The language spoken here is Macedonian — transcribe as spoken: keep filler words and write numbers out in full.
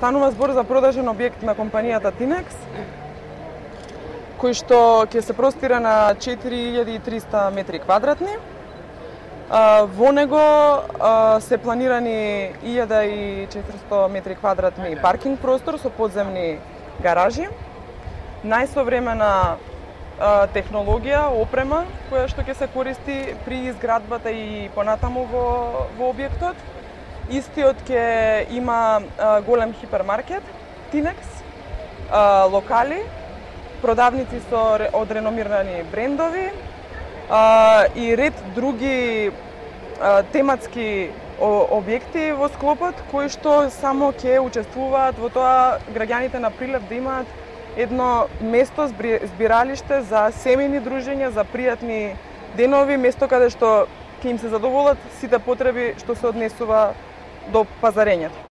Станува збор за продажен објект на компанијата Тинекс, кој што ќе се простира на четири илјади и триста метри квадратни. Во него се планирани илјада и четиристотини метри квадратни паркинг простор со подземни гаражи, најсовремена технологија, опрема која што ќе се користи при изградбата и понатаму во, во објектот. Истиот ќе има голем хипермаркет, Тинекс, локали, продавници со од реномирани брендови и ред други тематски објекти во склопот кои што само ќе учествуваат во тоа граѓаните на Прилеп да имаат едно место збиралиште за семејни дружења, за пријатни денови, место каде што ќе им се задоволат сите потреби што се однесува до пазарењето.